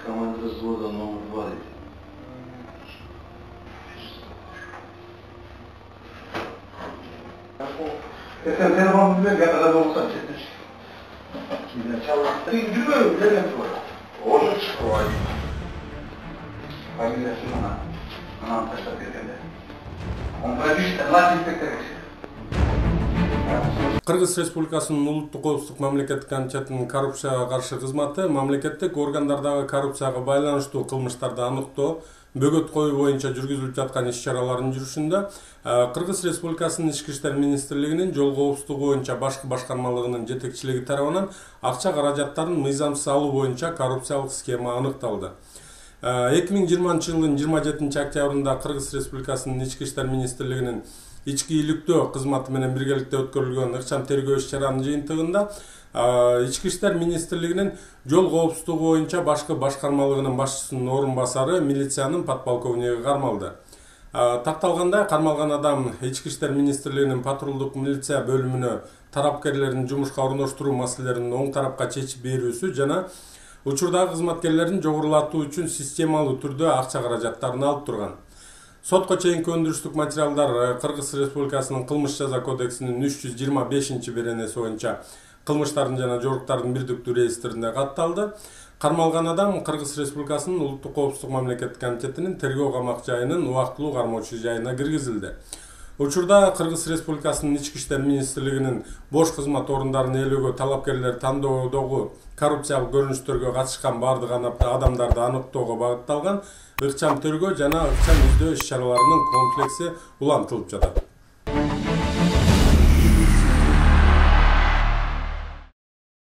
Команда взвода номер 2. Sen telefonu bilen kadar olsan çetmiş. Sen yürü, nereden var? Oğlum çıkıyor. Familiyası bana. Anam taşla bergende. Onlara bir Allah inspektör. Кыргыз Республикасынын улуттук коопсуздук мамлекеттик комитетинин коррупцияга каршы кызматы мамлекеттик органдардагы коррупцияга байланыштуу кылмыштарды аныктоо, бөгөт коюу боюнча жүргүзүлүп жаткан иш-чаралардын жүрүшүндө Кыргыз Республикасынын Ички иштер министрлигинин жол коопсуздугу боюнча башкы башкармалыгынын жетекчилиги тарабынан акча каражаттарын мыйзамсыз алуу боюнча коррупциялык схема аныкталды. 2020 жылдын 27 октябрында Кыргыз Республикасынын Ички иштер министрлигинин ички иликтөө кызматы менен биргеликте өткөрүлгөн ыкчам тергөө иш-чаранын жыйынтыгында Ички иштер министрлигинин жол коопсуздугу боюнча башкы башкармалыгынын башчысынын орун басары милициянын подполковниги кармалды. Такталгандай, кармалган адам Ички иштер министрлигинин патрулдук милиция бөлүмүнө тарапкерлердин жумушка орноштуруу маселелерин оң тарапка чечип берүүсү жана учурдагы кызматкерлерин жогорулатуу үчүн системалуу түрдө акча каражаттарын алып турган. Сотко чейинки өндүрүштүк материалдар Кыргыз Республикасынын кылмыш жаза кодексинин 325-беренеси боюнча кылмыштардын жана жоруктардын бирдиктүү реестрине катталды. Кармалган адам Кыргыз Республикасынын улуттук коопсуздук мамлекеттик комитетинин тергөө камак жайынын убактылуу кармоочу жайына киргизилди. Учурда Кыргыз Республикасынын Ички иштер министрлигинин бош кызмат орундарын ээлөөгө талапкерлер тандоодогу коррупциялык көрүнүштөргө катышкан бардык адамдарды аныктоого багытталган ыкчам тергөө жана ыкчам издөө иш-чараларынын комплекси улантылып жатат.